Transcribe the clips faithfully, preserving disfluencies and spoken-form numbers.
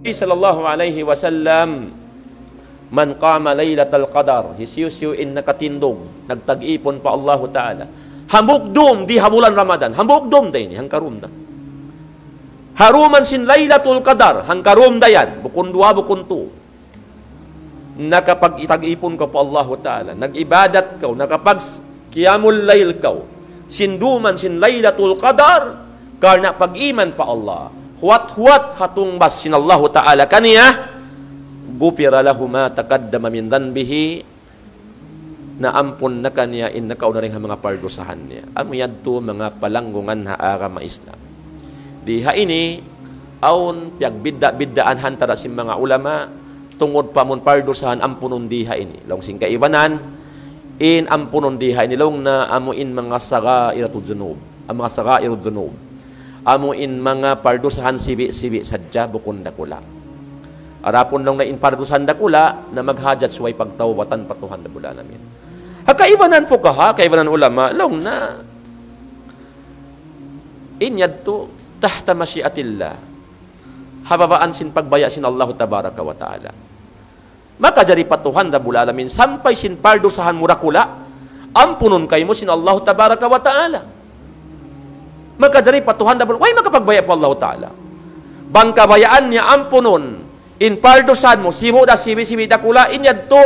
Nabi sallallahu alayhi wasallam, "Man qama laylatal qadar," hisiyu-siyu in nakatindug, nagtag-ipun pa Allahu Ta'ala. Hambuuk dum di ha bulan Ramadan, hambuuk dum da ini, hangkarum da. Ha dum sin Laylatul Qadar, hangkarum da yan, bukun duwa, bukun tu. Nakapagtag-ipun kaw pa Allahu Ta'ala, nag-ibadat kaw, nakapag-qiyamul layl kaw, sin dum sin Laylatul Qadar, karna' pag-iman pa Allah. Huwat-huwat ha tungbas sin Allahu Ta'ala kaniya, غفر له ما تقدم من ذنبه, naampun na kaniya in nakauna dayn ha manga pardusahan niya. Amu yadtu manga palanggungan ha agama Islam. Di ha ini, awn piyagbidda'-biddaan ha antara sin manga ulama, tungud pa amun pardusahan ampunun di ha ini. Laung sin kaibanan, in ampunun di ha ini, laung na amu in manga sagha'irud dhunub. Amu manga sagha'irud dhunub. Amu in manga pardusahan sibi'-sibi' sadja bukun dakula'. Adapun laung na in pardusahan dakula', na maghajat subay pagtawbatan pa Tuhan Rabbul Alamin. Ha kaibanan fuqaha, kaibanan ulama, laung na in yadtu tahta mashi'atillah. Ha babaan sin pagbaya' sin Allahu Tabaraka wa Ta'ala. Makajari pa Tuhan Rabbul Alamin, sampay sin pardusahan mu dakula', ampunun kaymu sin Allahu Tabaraka wa Ta'ala. Makajari pa Tuhan Rabbul, way makapagbaya' pa Allahu Ta'ala. Bang kabayaan niya ampunun in pardusahan mu, sibu' da sibi'-sibi' dakula', in yadtu,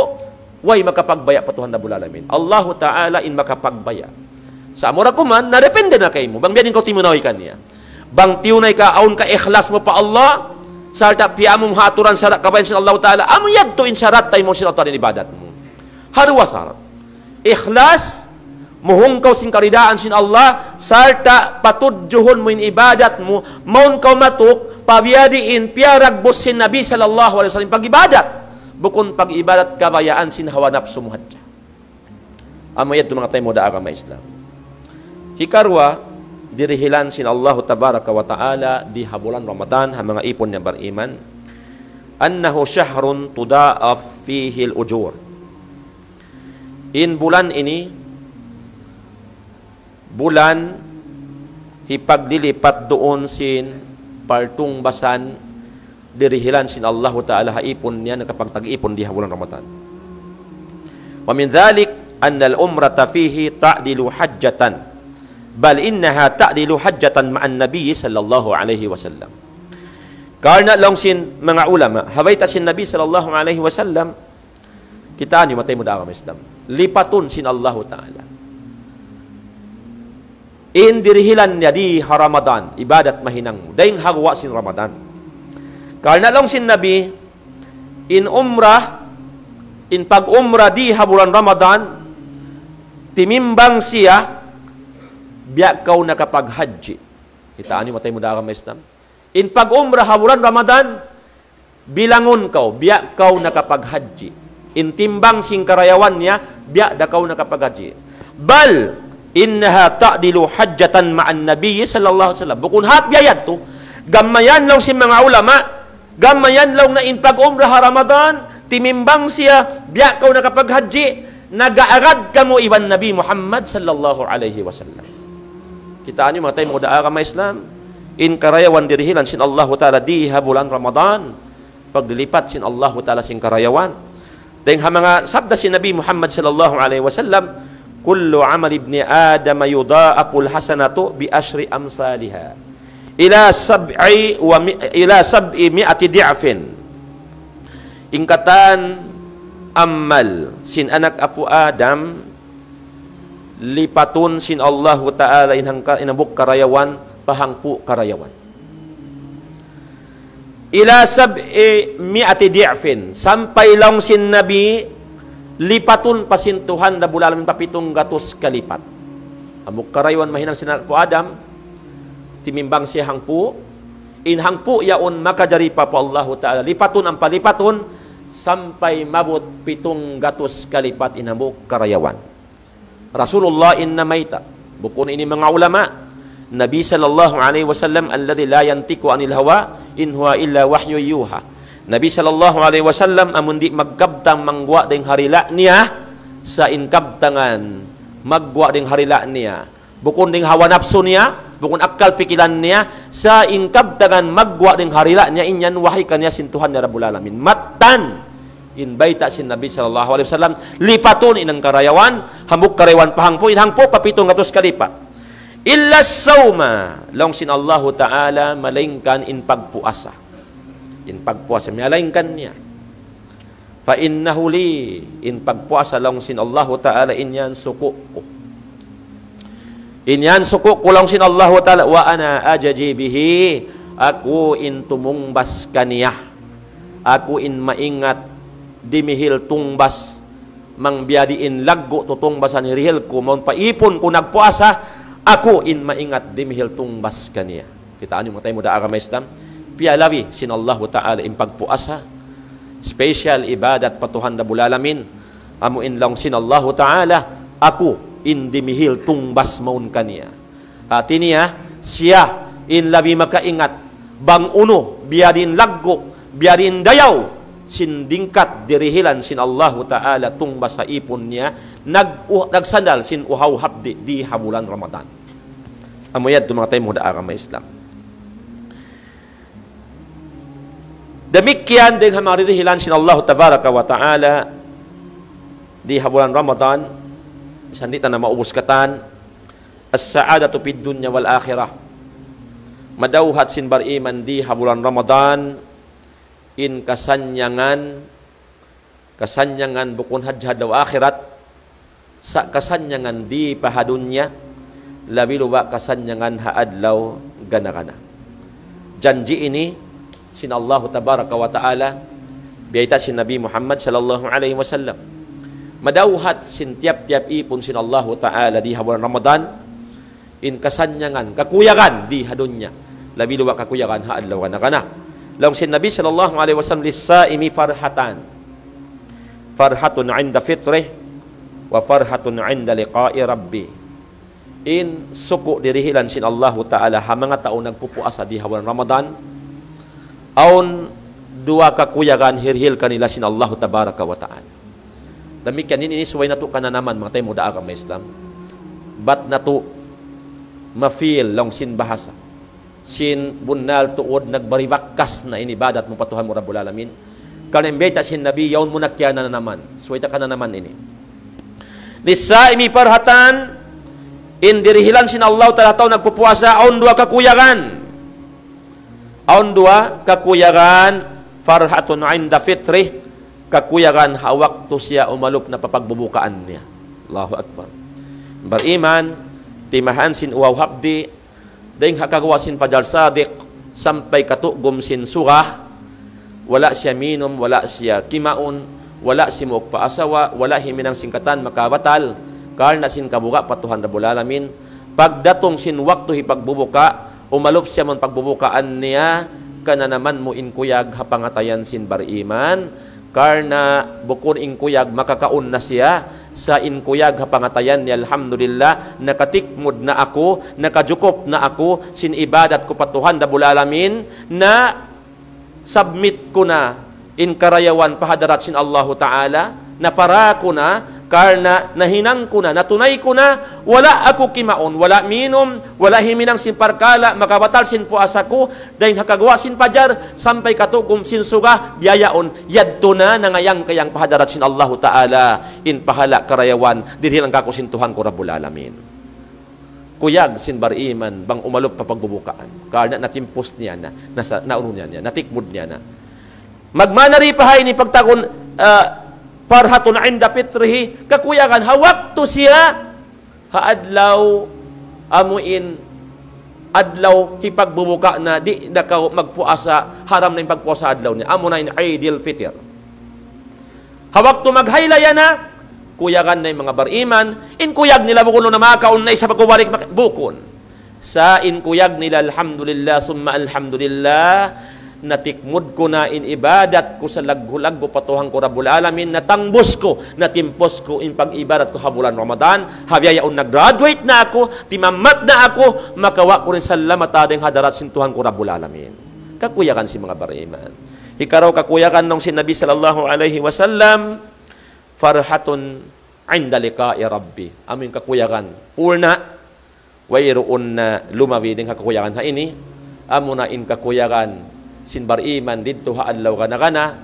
way makapagbaya' pa Tuhan Rabbul Alamin. Allahu Ta'ala in makapagbaya'. Sa' amura kuman, na depende na kaymu. Bang biya' diin kaw timunay kaniya. Bang tiyunay ka awn kaikhlas mu pa Allah, sarta' piyamung ha aturan sara' kabayaan sin Allahu Ta'ala, amu yadtu in sarat taymu sin Allah Ta'ala in ibadat mu. Ha duwa sarat. Ikhlas, muhung kaw sin karidaan sin Allah, sarta' patudjuhun mu in ibadat mu, mawn kaw matuk, pa biya' diin piyaragbus sin Nabi sallallahu alayhi wasallam pag-ibadat. Bukun pag-ibadat kabayaan sin hawa napsu mu hadja. Amu yadtu manga taymanghud ha agama Islam. Hikaruwa, dirihilan sin Allahu Tabaraka wa Ta'ala di ha bulan Ramadan, ha manga ipun niya bariman, أنه شهر تضاعف فيه الأجور. In bulan ini, bulan hipaglilipat duun sin partungbasan dirihilan sin Allahu Ta'ala ha ipun niya nakapagtag-ipun di ha bulan Ramadan. ومن ذلك أن العمرة فيه تعدل حجة، بل إنها تعدل حجة مع النبي صلى الله عليه وسلم. Karna' laung sin manga ulama, ha bayta' sin Nabi sallallahu alayhi wasallam, kitaa niyu manga taymanghud ha agama Islam. Lipatun sin Allahu Ta'ala in dirihilan niya di ha Ramadan, ibadat mahinang mu, dayn ha guwa' sin Ramadan. Karna' laung sin Nabi, in umrah, in pag-umrah di ha bulan Ramadan, timimbang siya, biya' kaw nakapaghajji. Kitaa niyu manga taymanghud ha agama Islam. In pag-umrah ha bulan Ramadan, bilangun kaw, biya' kaw nakapaghajji. In timbang sin karayawan niya, biya' da kaw nakapaghajji. بل إنها تعدل حجة مع النبي صلى الله عليه وسلم. Bukun hāti biya' yadtu, gam mayan laung sin manga ulama, gam mayan laung na in pag-umrah ha Ramadan, timimbang siya, biya' kaw nakapaghajji, nag-aagad kamu iban Nabi Muhammad sallallahu alayhi wasallam. Kitaa niyu manga taymanghud ha agama Islam, in karayawan dirihilan sin Allahu Ta'ala di ha bulan Ramadan, paglilipat sin Allahu Ta'ala sin karayawan. Dayn ha manga sabda sin Nabi Muhammad sallallahu alayhi wasallam, كل عمل ابن آدم يضاعف الحسنة بعشر أمثالها إلى سبع وم-، إلى سبعمائة ضعف. In katan amal sin anak apu' Adam, lipatun sin Allahu Ta'ala in hangka-, in hambuuk karayawan, pa hangpu' karayawan. إلى سبعمائة ضعف, sampay laung sin Nabi, lipatun pa sin Tuhan Rabbul Alamin pa pitung gatus kalipat. Hambuuk karayawan mahinang sin anak apu' Adam, timimbang siya hangpu', in hangpu' yaun makajari pa, pa Allahu Ta'ala, lipatun ampa lipatun, sampay maabut pitung gatus kalipat in hambuuk karayawan. Rasulullah in namayta'. Bukun ini manga ulama. Nabi sallallahu alayhi wasallam الذي لا ينطق عن الهوى إن هو إلا وحي يوحى. Nabi sallallahu alayhi wasallam amun di' magkabtang mangguwa' dayn ha dila' niya, sa' in kabtangan magguwa' dayn ha dila' niya. Bukun dayn hawa napsu niya, Bukun akkal pikilan niya, sa' in kabtangan magguwa' dayn ha dila' niya, in yan wahi kaniya sin Tuhan niya Rabbul Alamin. Mattan! In bayta' sin Nabi sallallahu alayhi wasallam, lipatun in karayawan, hambuuk karayawan pa hangpu', in hangpu' pa pitung gatus kalipat. إلا الصوم, laung sin Allahu Ta'ala, malaingkan in pagpuasa. In pagpuasa, malaingkan niya. فإنه لي, in pagpuasa laung sin Allahu Ta'ala, in yan suku' ku. In yan suku' ku laung sin Allahu Ta'ala, وأنا أجزي به, aku in tumungbas kaniya. Aku in maingat dimihil tungbas, bang biyadiin laggu' tutungbasan hirihil ku, mawn pa ipun ku nagpuasa, aku in maingat dimihil tungbas kaniya. Kitaa niyu manga taymanghud ha agama Islam, piyalabi sin Allahu Ta'ala in pagpuasa, special ibadat pa Tuhan Rabbul Alamin, amu in laung sin Allahu Ta'ala, aku in dimihil tungbas mawn kaniya. Hati niya, siya in labi makaingat, bang unu, biyadiin laggu', biyadiin dayaw, sin dingkat dirihilan sin Allahu Ta'ala tungbas ha ipun niya, nag-, uh, nagsandal sin uhaw hapdi' di ha bulan Ramadan. Amu yadtu manga taymanghud ha agama Islam. Damikkiyan dayn ha manga dirihilan sin Allahu Tabaraka wa Ta'ala di ha bulan Ramadan, misan di' ta na maubus katan, السعادة في الدنيا والآخرة. Madawhat sin bariman di ha bulan Ramadan, in kasannyangan, kasannyangan bukun hadja ha adlaw akhirat, sa' kasannyangan di pa ha dunya, labi luba' kasannyangan ha adlaw gana-gana. Janji' ini sin Allahu Tabaraka wa Ta'ala, biyayta' sin Nabi Muhammad sallallahu alayhi wasallam. Madawhat sin tiyap-tiyap ipun sin Allahu Ta'ala di ha bulan Ramadan, in kasannyangan, kakuyagan di ha dunya. Labi luba' kakuyagan ha adlaw gana-gana. Laung sin Nabi sallallahu alayhi wasallam, للصائم فرحتان. فرحة عند فطره، وفرحة عند لقاء ربه. In suku' dirihilan sin Allahu Ta'ala ha manga tau nagpupuasa di ha bulan Ramadan, awn duwa kakuyagan hirihil kanila sin Allahu Tabaraka wa Ta'ala. Damikkiyan ini, ini subay natu' kananaman, manga taymanghud ha agama Islam. Bat natu' ma-feel laung sin bahasa. Sin bunnal tuud nagbari bakas na in ibadat mu pa Tuhan mu Rabbul Alamin. Karna' in bayta' sin Nabi, yaun mu na kiyananaman. Subay ta kananaman ini. للصائم فرحتان, in dirihilan sin Allah Ta'ala tau nagpupuasa, awn duwa kakuyagan. Awn duwa kakuyagan, فرحة عند فطره, kakuyagan ha waktu siya umalup na pa pagbubukaan niya. Allahu Akbar. Bariman, timahan sin uhaw hapdi', dayn ha kaguwa' sin fajar sadiq, sampay katugum sin suga, wala' siya minum, wala' siya kimaun, wala' simuuk pa asawa, wala' himinang sin katan makabatal, karna' sin kabuga' pa Tuhan Rabbul Alamin. Pagdatung sin waktu hipagbubuka, umalup siya mawn pagbubukaan niya, kananaman mu in kuyag ha pangatayan sin bariman, karna' bukun in kuyag makakaun na siya, sa' in kuyag ha pangatayan niya, alhamdulillah, nakatikmud na aku, nakajukup na aku, sin ibadat ku pa Tuhan Rabbul Alamin, na submit ku na in karayawan pa hadarat sin Allahu Ta'ala, napara ku na, karna' nahinang ku na, natunay ku na, wala' aku kimaun, wala' minum, wala' himinang sin parkala' makabatal sin puasa ku, dayn ha kaguwa' sin fajar, sampay katugum sin suga, biya' yaun, yadtu na nangayang-kayang pa hadarat sin Allahu Ta'ala, in pahala' karayawan, dirihilan kaku' sin Tuhan ku Rabbul Alamin. Kuyag sin bariman, bang umalup pa pagbubukaan. Karna' natimpus niya na, nasa, naunu niya na, natikmud niya na. Magmana di pa ha ini pagtawagun, ah, فرحة عند فطره, kakuyagan ha waktu siya, ha adlaw, amu in adlaw hipagbubuka na, di' na kaw magpuasa, haram na in pagpuasa adlaw niya. Amu na in Eidil Fitr. Ha waktu maghaylaya na, kuyagan na in manga bariman, in kuyag nila bukun na makaun na isab kaw balik mak-, bukun. Sa' in kuyag nila, alhamdulillah, summa alhamdulillah, natikmud ku na in ibadat ku salaggu'-laggu' pa Tuhan ku Rabbul Alamin, natangbus ku, natimpus ku in pag-ibadat ku ha bulan Ramadan, ha biya' yaun nag-graduate na aku, timamat na aku, makawa' ku in salamatan dayn ha hadarat sin Tuhan ku Rabbul Alamin. Kakuyagan sin manga bariman. Hikaraw kakuyagan laung sin Nabi sallallahu alayhi wasallam, فرحة عند لقاء ربه. Amu in kakuyagan. Pulna, Wayruun na lumabi dayn ha kakuyagan ha ini, amuna in kakuyagan sin bariman didtu ha adlaw gana-gana,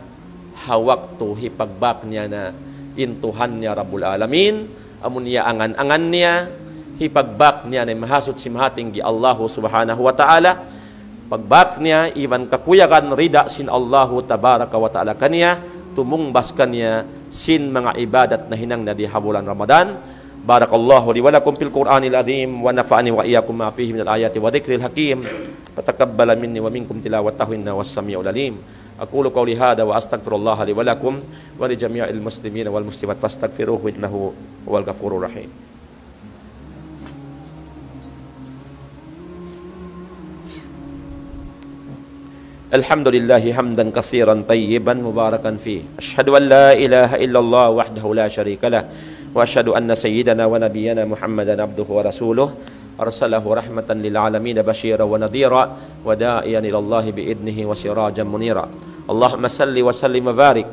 ha waktu hipagbak niya na in Tuhan niya Rabbul Alamin, amun iyaangan-angan niya, hipagbak niya na in Mahasuchi Mahatinggi Allahu Subhanahu wa Ta'ala, pagbak niya iban kakuyagan rida sin Allahu Tabaraka wa Ta'ala kaniya, tumungbas kaniya sin manga ibadat nahinang niya di ha bulan Ramadan. بارك الله لي ولكم في القرآن العظيم ونفعني وإياكم ما فيه من الآيات والذكر الحكيم، فتقبل مني ومنكم تلاوته إنه هو السميع العليم. أقول قولي هذا وأستغفر الله لي ولكم ولجميع المسلمين والمسلمات فاستغفروه إنه هو الغفور الرحيم. الحمد لله حمدا كثيرا طيبا مباركا فيه. أشهد أن لا إله إلا الله وحده لا شريك له، وأشهد أن سيدنا ونبينا محمدا عبده ورسوله، أرسله رحمة للعالمين بشيرا ونذيرا وداعيا إلى الله بإذنه وسراجا منيرا. اللهم صل وسلم وبارك